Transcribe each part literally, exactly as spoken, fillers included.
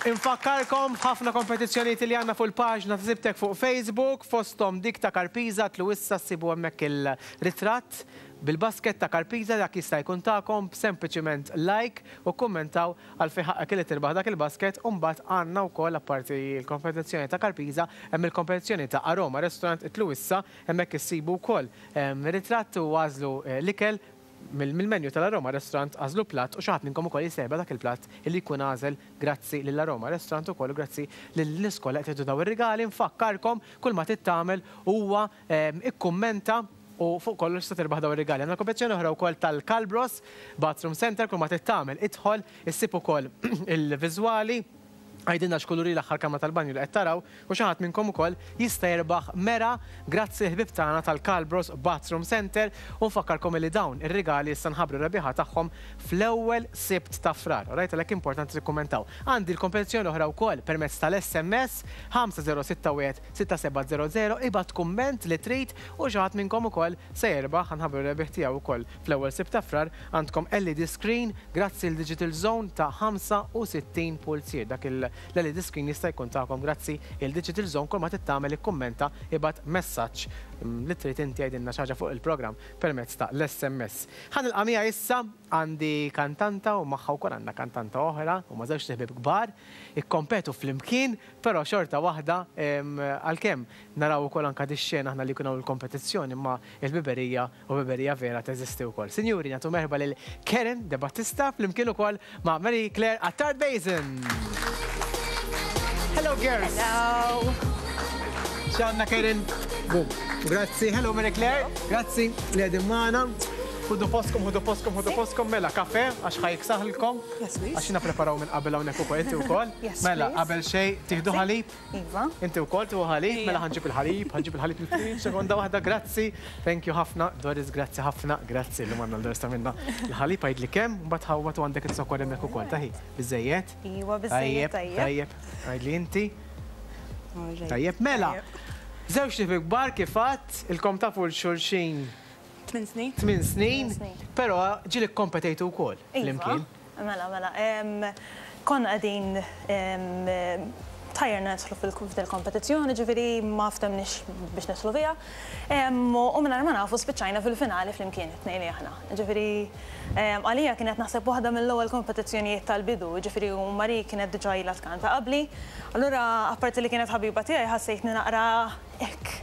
Infakkarkom ħafna kompetizzjonijiet li għandna fuq il-paġna ta' Sibtek fuq Facebook, fosthom dik ta' Karpiza, tlu issa ssibu hemmhekk il-ritratt bil-basket ta' Karpiza. Dak jista' jkun tagħkom, sempliċiment like u kummentaw għal fi ħaqqek li tirbaħ dak il-basket. U mbagħad għandna wkoll, apparti l-kompetizzjoni ta' Karpiza, hemm il-kompetizzjoni ta' Aroma Restaurant. Itlu issa hemmhekk issibu wkoll ritratt u għażlu l-ikel mill-menu tal-Aroma Restaurant, għażlu platt u xi ħadd minnkom ukoll jista' dak il-platt illi jkun għażel. Grazzi lill-Aroma Restaurant ukoll u grazzi lill-iskola qed daw ir-rigali. Nfakkarkom, kull ma trid tagħmel huwa ikkummenta u fuq kollox se tirbaħ daw ir-rigali. Għandna kompetizzjoni oħra wkoll tal-Calbros Bathroom Center. Kull ma trid tagħmel, idħol, issib ukoll il-viżwali, għidilna x'kulur l-aħħar kamra tal-banju li qed taraw u xi ħadd minnkom ukoll jista' jirbaħ mera, grazzi ħbib tagħna tal-Calbros Bathroom Center. U nfakkarkom li dawn ir-rigali issa nħabbru rebbieħa tagħhom fl-ewwel Sibt ta' Frar. Alright, għalhekk importanti tikkummentaw. Għandi l-kompetizzjoni oħra wkoll permezz tal-S M S ħamsa żero sitta wieħed sitta seba' żero żero. Ibgħat kumment li trid u xi ħadd minnkom ukoll se jirbaħ. Ħa nħabbru rebbieħ tiegħu wkoll fl-ewwel Sibt ta' Frar. Għandkom L E D screen grazzi l-Digital Zone ta' ħamsa u sittin pulzier. Dak il-L E D screen jista' jkun tagħkom grazzi il-Digital Zone. Kull ma trid tagħmel, ikkummenta, ibgħat messaġġ mm, li trid inti, għidilna xi ħaġa fuq il-programm permezz ta' l-S M S. Ħa nilqa' miegħi issa, għandi kantanta u magħha wkoll għandna kantanta oħra u ma żewġ ħbieb kbar, ikkompetu flimkien, però xorta waħda, għalkemm naraw ukoll anka dix-xena aħna li jkun hawn il-kompetizzjoni, imma il-ħbiberija u ħbiberija vera teżisti wkoll. Sinjuri, nagħtu merħba lil Karen De Battista flimkien ukoll ma' Marie Claire Attard Basin. Hello, girls. Hello. X'għandna, Karen? Boom. Grazzi. Hello, Marie Claire. Grazzi li qegħdin magħna. Ħudu postkom, ħudu postkom, ħudu postkom. Mela, kafe, għax ħa jiksaħlkom. Yes, please. Għax jiena preparaw minn qabel hawnhekk ukoll, inti wkoll. Yes, Mela, please. qabel xejn, tieħdu ħalib? Iva. Inti wkoll tieħu ħalib? Mela ħa nġib il-ħalib, ħa nġib il-ħalib il-fridge, sekonda waħda, grazzi. Thank you ħafna, Doris, grazzi ħafna, grazzi li manna l-Doris ta' minna. Il-ħalib, għidli kemm, mbagħad ħawwat u għandek iz-zokkor hemmhekk ukoll, taħi. Biżejjed? Iva, biżejjed, tajjeb. Tajjeb, għidli inti. Alright. Tajjeb, mela. Żewġ ħbieb kbar kif għedt, ilkom tafu 'l xulxin Tmin snin. tmien snin, snin. però ġieli kompetejtu wkoll Iva. flimkien. Mela, mela. em, Konna qegħdin em, tajjerna nidħlu fil-kompetizzjoni, ġifieri ma ftemniex biex nidħlu fiha. Em, U minn ma nafu spiċċajna fil-finali flimkien, it-tnejn li aħna. Ġifieri em, għalija kienet naħseb waħda mill-ewwel kompetizzjonijiet tal-bidu, ġifieri u Mari kienet diġà ilha tkanta qabli. Allura apparti li kienet ħabiba tiegħi, ħassejtni naqra hekk.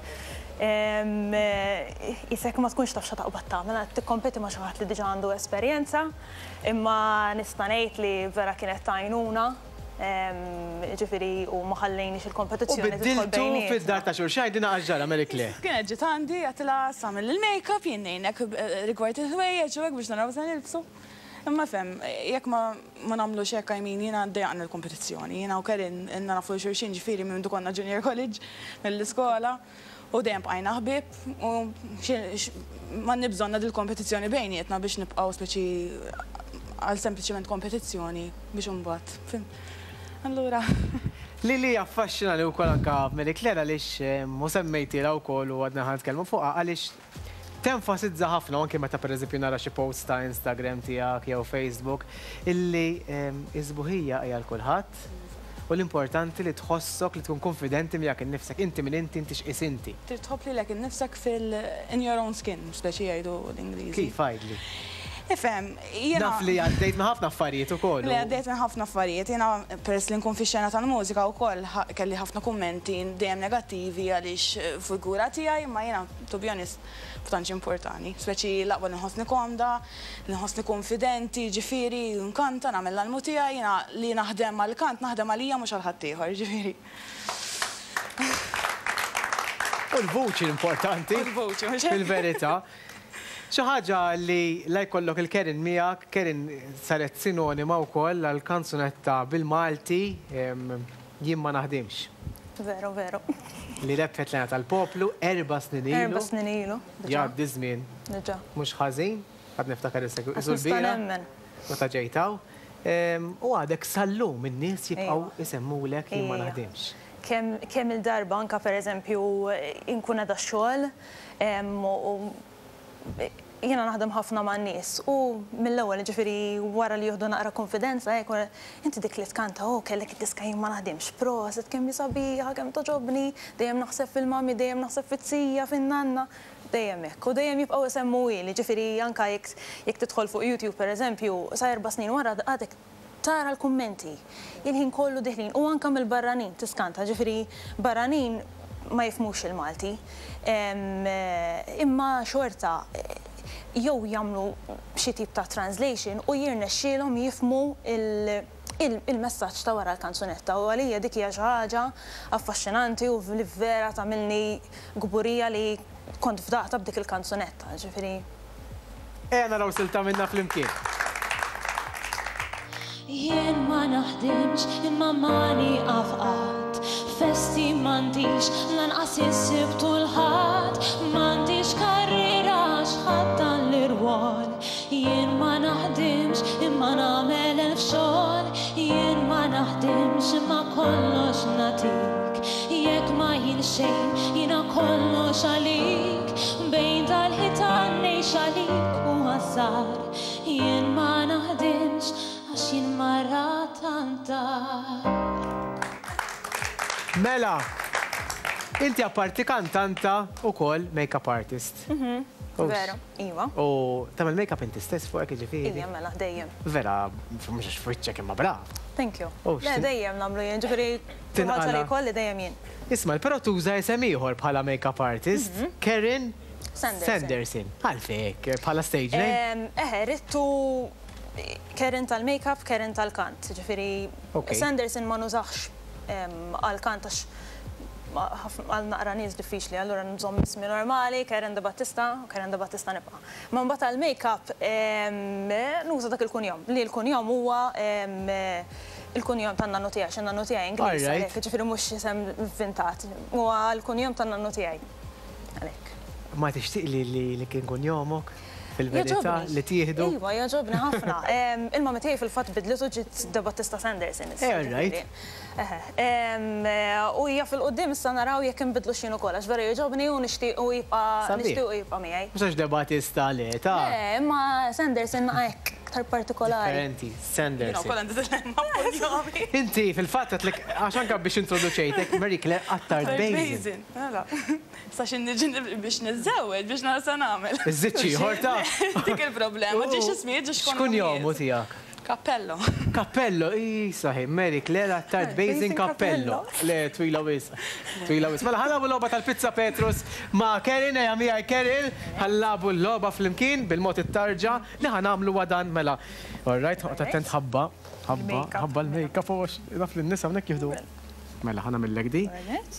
Em, eh, Isek ma tkunx taf x'taqbad tagħmel, qed tikkompeti ma' xi ħadd li diġà għandu esperjenza, imma nista' ngħid li vera kienet tajnuna, em, ġifieri u ma ħallejniex U il-kompetizzjoni tidħol biddiltu bejnietna. fid-dar ta' xulxin, dina għaġġara, Mary Claire. Kienet ġiet għandi, għedtilha tagħmel il-make-up, jien ngħinek eh, rigward il-ħwejjeġ u hekk biex naraw se nilbsu. Imma fem, jekk ma ma nagħmlux hekk, I mean, jiena ddejjaqna l-kompetizzjoni. Jiena u Karen ilna nafu xulxin, ġifieri minn konna junior college mill-iskola u dejjem bqajna ħbieb u xi- x- ma nibżonna dil-kompetizzjoni bejnietna biex nibqgħu speċi għal sempliċement kompetizzjoni biex imbagħad. Fim. Allura, Li li affaxxina li wkoll anka Mary Claire, għaliex mu semmejtilha wkoll u għadna ħa nitkellmu fuqha, għaliex tenfasizza ħafna anke meta pereżempju nara xi post ta' Instagram tiegħek jew Facebook illi em, is-sbuħija hija għal kulħadd u l-importanti li tħossok li tkun konfidenti miegħek innifsek, inti min inti, inti x'qis inti. Trid tħobb lilek innifsek fil in your own skin, speċi jgħidu l-Ingliżi. Kif, għidli? Ifhem, jiena Naf li għaddejt ma' ħafna affarijiet ukoll. Li għaddejt minn ħafna affarijiet, jiena peress li nkun fi xena tal-mużika wkoll kelli ħafna kummenti dejjem negattivi għaliex eh, figura tiegħi, ma jiena, to be honest, tantx importani. Speċi l-aqwa li nħossni komda, li nħossni konfidenti, ġifieri nkanta, nagħmel l-almu tiegħi, jiena li naħdem għal-kant, naħdem għalija, mhux għal ħaddieħor, ġifieri. U l-vuċi importanti. U l-vuċi, mhux hekk? Fil-verità. Xi ħaġa li la jkollok il-Karen miegħek, Karen saret sinonima wkoll għal kanzunetta bil-Malti em, "Jien ma naħdimx". Veru, veru. Li rebħet l-hena tal-poplu erba' snin ilu. Erba' snin ilu. Diġà. Jgħaddi żmien Diġà. mhux ħażin, għad niftakar is-segwi Għax nista' nemmen. Meta ġejtaw. Em, U għadek sal-lum in-nies jibqgħu Ejwa. isemmulek "Jien ma Ejja. naħdimx". Kemm kemm il-darba anka, per eżempju, inkun għada xogħol em, u Jiena naħdem ħafna ma' nies u mill-ewwel ġifieri wara li jieħdu naqra konfidenza hekk inti dik li tkanta oh kellek id-diska jien ma naħdimx proset kemm hi sabiħa kemm toġobni dejjem naħseb fil-mami dejjem naħseb fit-sija fin-nanna dejjem hekk u dejjem jibqgħu isemmu ili ġifieri anke jekk tidħol fuq YouTube pereżempju sa erba' snin wara għadek tara l-kummenti il-ħin kollu diħlin u anke mill-barranin tiskanta ġifieri barranin ma jifhmux il-Malti imma xorta jew jagħmlu xi tip ta' translation u jirnexxielhom jifhmu il-messaġġ ta' wara l-kanzunetta u għalija dik hija xi ħaġa affaxxinanti u li vera tagħmilni kburija li kont fdaqta b'dik il-kanzunetta, ġifieri. Ejja naraw silta minna flimkien. Jien ma naħdimx imma ma nieqaf qatt, festi m'għandix lanqas is-Sibt u l-Ħadd, m'għandix karriera għax ħadd dan l-irwol. Jien ma naħdimx imma nagħmel elf xogħol, jien ma naħdimx imma kollox nagħtik. Jekk ma jien xejn jiena kollox għalik, bejn dal-ħitan ngħix għalik u għażar. Jien ma naħdimx għax jien mara tant-dar. Mela, inti apparti kantanta u kol make-up artist. Vera, iva. U tagħmel make-up inti stess fuqek jiġifieri? Ija, mela, dejjem. Vera, mhux għax f'wiċċek imma brav. Thank you. Le, dejjem nagħmlu jien, ġifieri ħaġa li jkolli dejjem jien. Isma', però tuża isem ieħor bħala make-up artist, Karen Sanderson. Għalfejn, bħala stage name? Eħe, rittu Karen tal-make-up, Karen tal-kant. Ġifieri Sanderson ma nużax għal-kant għax għal naqra nies diffiċli, allura nżomm ismi normali, Karen De Battista, Karen De Battista nibqa'. Ma mbagħad għall-make-up nuża dak il-kunjom, li l-kunjom huwa il-kunjom tan-nannu tiegħi, għax in-nannu tiegħi Ingliż għalhekk, ġifieri mhux isem inventat, huwa l-kunjom tan-nannu tiegħi. Għalhekk. Ma tixtieq li kien kunjomok? Fil-verità li tieħdu? Iva, jogħġobni ħafna. Il-mami tiegħi fil-fatt bidlitu ġiet De Battista Sanderson. Eh, right. U hija fil-qudiem issa naraw jekk inbidlu x'jien ukoll għax vera jogħġobni u nixtiequ jibqa' nixtiequ jibqa' miegħi. Mhux għax De Battista le, ta' Le, imma Sanderson hekk aktar partikolari. Differenti, Sanderson. Inti fil-fatt għedtlek għax anke biex introduċejtek Marie Claire Attard Basin. Mela. Sa xi niġi biex niżżewweġ biex nara sa nagħmel. Iżżid xi ieħor ta' Dik il-problema, ġiex ismijiet ġiex X'kun jomu tiegħek? Cappello. Cappello, saħi, Marie Claire Attard Basin Cappello. Le, twila wisq. Twila wisq. Mela ħa nilagħbu l-logħba tal-Pizza Petrus ma' Karen, ejja miegħi Karen, ħa nilagħbu l-logħba flimkien bil-mod it-tarġa li ħa nagħmlu wadan mela. All right, oqgħod attent ħabba, ħabba, ħabba l-make-up u naf li n-nisa hawnhekk jieħdu. Mela ħa nagħmillek di.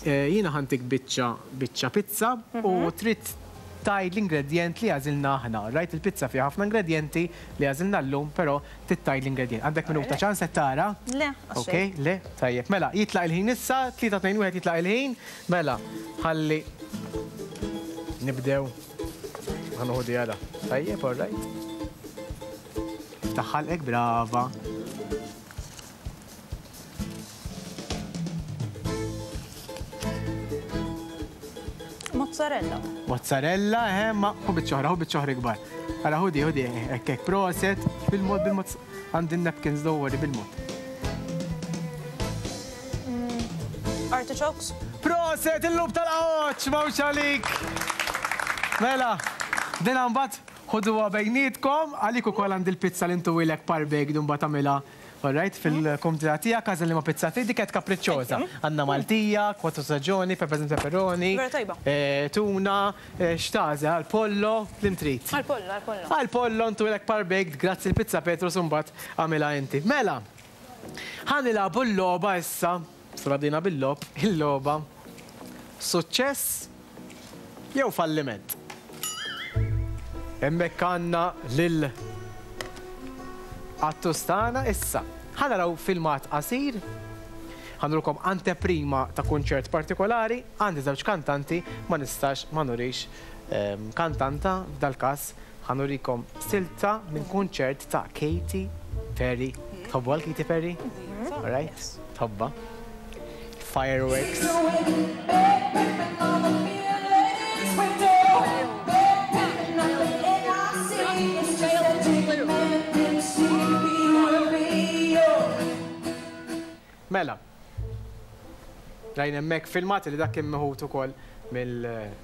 Jiena ħantik biċċa biċċa pizza u trid tgħid l-ingredjent li għażilna aħna. Rajt il-pizza fiha ħafna ingredjenti li għażilna llum, però trid tgħid l-ingredjent. Għandek minuta ċans qed tara? Le, Ok, le, tajjeb. Mela, jitlaq il-ħin issa, tlieta tnejn wieħed jitlaq il-ħin. Mela, ħalli nibdew. Ħa nieħu di għala. Tajjeb, all right. Ftaħ ħalqek, brava. Mozzarella. Mozzarella, eh, ma hu biċċa oħra, hu biċċa oħra ikbar. Ara ħudi, ħudi, hekk hekk proset, bil-mod, bil-mod, għandi napkins don't worry, bil-mod. Artichokes. Proset, il-lub tal-qawċ, mawx għalik. Mela, din mbagħad ħuduha bejnietkom, għalik ukoll għandi l-pizza li ntuwilek par baked u mbagħad tagħmilha. All right, fil-kumdità tiegħek għażel li ma pizza trid, dik qed kapriċċoża. Għandna Maltija, kwatru staġoni, peppers and pepperoni, tuna, x'tagħżel, għall-pollo, li trid. Għall-pollo, għall-pollo. Għall-pollo ntuwilek par baked, grazzi l-Pizza Petrus u mbagħad għamilha inti. Mela, ħa nilagħbu l-logħba issa, sura bdejna bil-logħob, il-logħba. Suċċess jew falliment. Hemmhekk għandna lil Attustana issa. Ħa naraw filmat qasir, ħa nurukom anteprima ta' kunċert partikolari, għandi żewġ kantanti, ma nistax ma nurix kantanta, f'dal-każ ħa nurikom silta minn kunċert ta' Katy Perry. Tħobbu għal Katy Perry? All right, tħobba. Fireworks. Mela. Rajna hemmhekk filmat li dak kien meħud ukoll mill-mobile.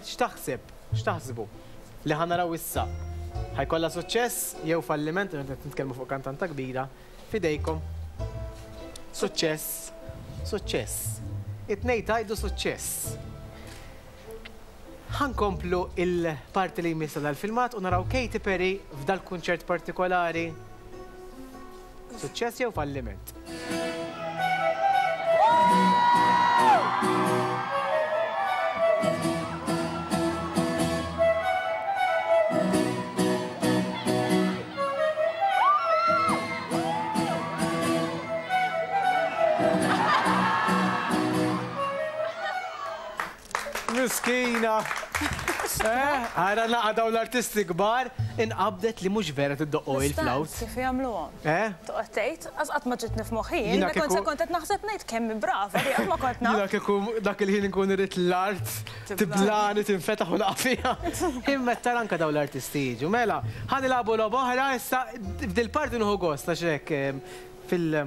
X'taħseb? X'taħsbu? Li ħa naraw issa. Ħa jkollha suċċess jew falliment, qed nitkellmu fuq kantanta kbira, fidejkom. Suċċess, suċċess. It-tnejn tgħidu suċċess. Ħa nkomplu il-parti li jmiss dal-filmat u naraw Katy Perry f'dal-kunċert partikolari. Suċċess jew falliment? Miskina! Għara naqa daw l-artisti kbar, inqabdet li mhux vera tiddoqqu il-flawt. Kif jagħmluhom? Toqgħod tgħid, qatt ma ġitni f'moħħi, jiena kont se kont qed naħseb ngħid kemm brava li qatt ma kont naf. Jiena kieku dak il-ħin inkun irid l-art, tiblani, tinfetaħ u naqa' fiha. Imma tara anke daw l-artisti jiġu. Mela, ħa nilagħbu logħba oħra issa f'dil-parti nieħu gost għax hekk fil-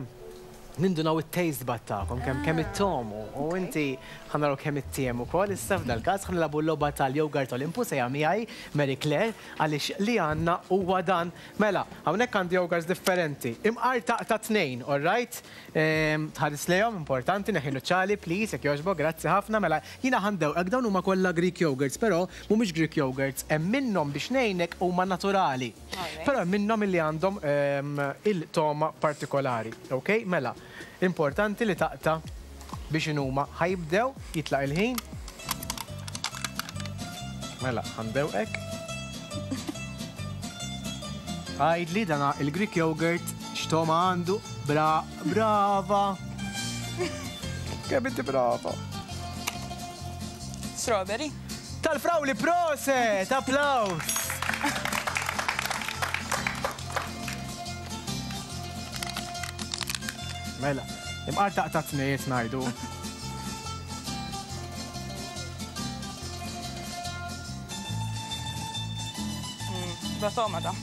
nindunaw it-taste bud tagħkom, kemm kemm it-tomu, u inti ħa naraw kemm it-tiem ukoll, issa f'dal-każ ħa nilagħbu l-logħba tal-yogurt Olympus ejja miegħi Mary Claire għaliex li għandna huwa dan. Mela, hawnhekk għandi yogurts differenti. Imqar ta' tnejn, all right? Tħares lejhom, importanti, neħi nuċċali, please, jekk jogħġbok, grazzi ħafna. Mela, jiena ħa ndewqek dawn huma kollha Greek yogurts, però mhumiex Greek yogurts, hemm minnhom biex ngħinek huma naturali. Però hemm minnhom illi għandhom il-toma partikolari, ok? Mela, importanti li taqta biex inhuma ħa jibdew jitlaq il-ħin. Mela, ħa ndewqek. Għidli dana il-Greek yogurt x'toma għandu. Bra, brava. Kemm inti brava. Strawberry. Tal-frawli proset, applaus. Mela, imqar taqta' tnejn ngħidu. Da toma da.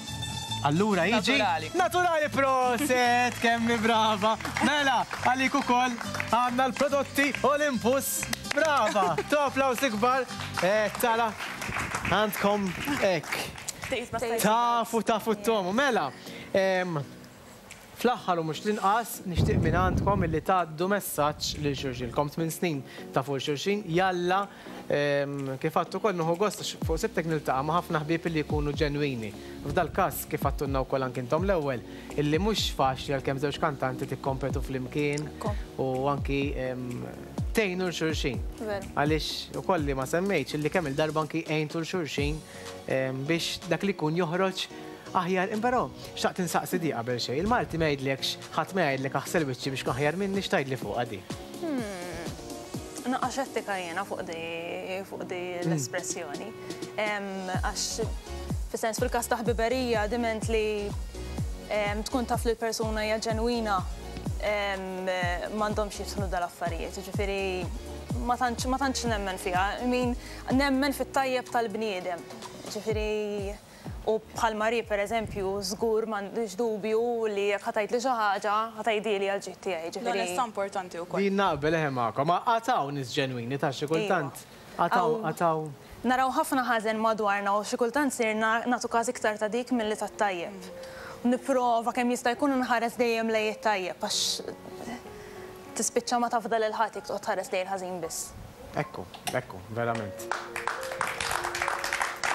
Allura jiġi Naturali. Naturali proset, kemm brava. Mela, għalik ukoll għandna l-prodotti Olympus. Brava, to applaus ikbar. Eh, tara, għandkom hekk. Tafu, tafu t-tomu. Mela, fl-aħħar u mhux l-inqas nixtieq minn għandkom illi tgħaddu messaġġ lil xulxin. Kom tmien snin tafu xulxin, jalla kif għadtu ukoll nieħu gost għax fuq sibtek niltaqa' ma' ħafna ħbieb illi jkunu ġenwini. F'dal-każ kif għadtulna wkoll anke intom l-ewwel, illi mhux faċli għalkemm żewġ kantanti tikkompetu flimkien u anki tgħinu l xulxin. Għaliex ukoll li ma semmejtx illi kemm il-darba anki għejntu l xulxin biex dak li jkun joħroġ aħjar, imperò, xtaqt insaqsi di qabel xejn. Il-Malti ma jgħidlekx, ħadd ma jgħidlek aħsel wiċċi biex aħjar minni, x'tgħidli fuqha di? Naqa' xettika jiena fuq di fuq di l-espressjoni. Għax fis-sens fil-każ ta' ħbiberija diment li tkun taf li l-persuna hija ġenwina m'għandhomx jidħlu dal-affarijiet. Jiġifieri ma tantx ma tantx nemmen fiha. I mean, nemmen fit-tajjeb tal-bniedem. Jiġifieri u bħal Mari, per eżempju, żgur m'għandix dubju li jekk ħa tgħidli xi ħaġa, ħa tgħidili għal ġid tiegħi, ġifieri. L-onestà importanti wkoll. Din naqbel eħe magħkom, ma qataw nies ġenwini ta' xi kultant. Qataw, qataw. Naraw ħafna ħażen madwarna u xi kultant sirna nagħtu każ iktar ta' dik milli tat-tajjeb. Nipprova kemm jista' jkun nħares dejjem lejn it-tajjeb għax tispiċċa ma tafdal il-ħadd jekk toqgħod tħares lejn il-ħażin biss. Ekku, ekku, verament.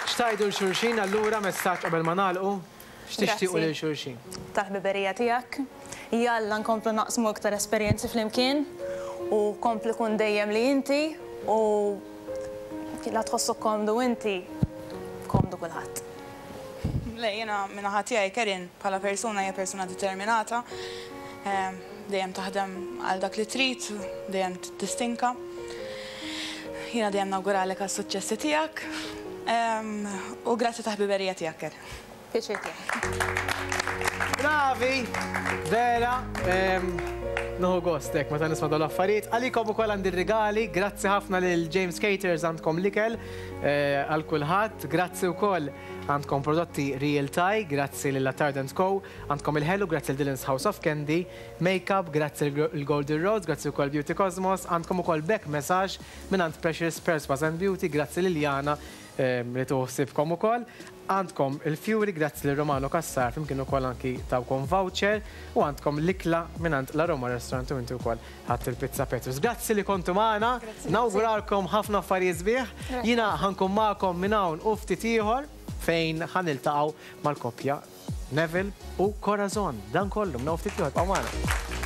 X'tgħidu l xulxin allura messaġġ qabel ma nagħlqu? X'tixtiequ lil xulxin? Tal-ħbiberija tiegħek. Jalla nkomplu naqsmu iktar esperjenzi flimkien u kompli kun dejjem li inti u la tħossok komdu inti, komdu kulħadd. Le, jiena min-naħa tiegħi Kerin bħala persuna hija persuna determinata, dejjem taħdem għal dak li trid, dejjem tistinka. Jiena dejjem nawguralek għas-suċċessi tiegħek. U grazzi ta' ħbiberija tiegħek, Kerin. Pjaċir tiegħi. Bravi, vera, nieħu gost hekk meta nisma' dawn l-affarijiet. Għalikom ukoll għandi r-rigali, grazzi ħafna lil James Caters għandkom l-ikel għal kulħadd, grazzi wkoll Għandkom prodotti Real Thai, grazzi lil Tardent Co. Għandkom il-ħelu, grazzi lil Dylan's House of Candy. Makeup, grazzi l-Golden Rose, grazzi wkoll Beauty Cosmos. Għandkom ukoll back massage minn Precious Pearls and Beauty, grazzi lil Jana li tuħsibkom ukoll. Għandkom il-Fury, grazzi lil Romano Cassar, flimkien ukoll anki tawkom voucher, u għandkom l-ikla minn la Roma Restaurant u inti wkoll ħadt il-pizza Petrus. Grazzi li kontu magħna, nawguralkom ħafna affarijiet sbieħ. Jiena ħa nkun magħkom minn hawn u ftit ieħor fejn ħa niltaqgħu mal-koppja Neville u Corazon. Dan kollu minn hawn ftit ieħor, magħna.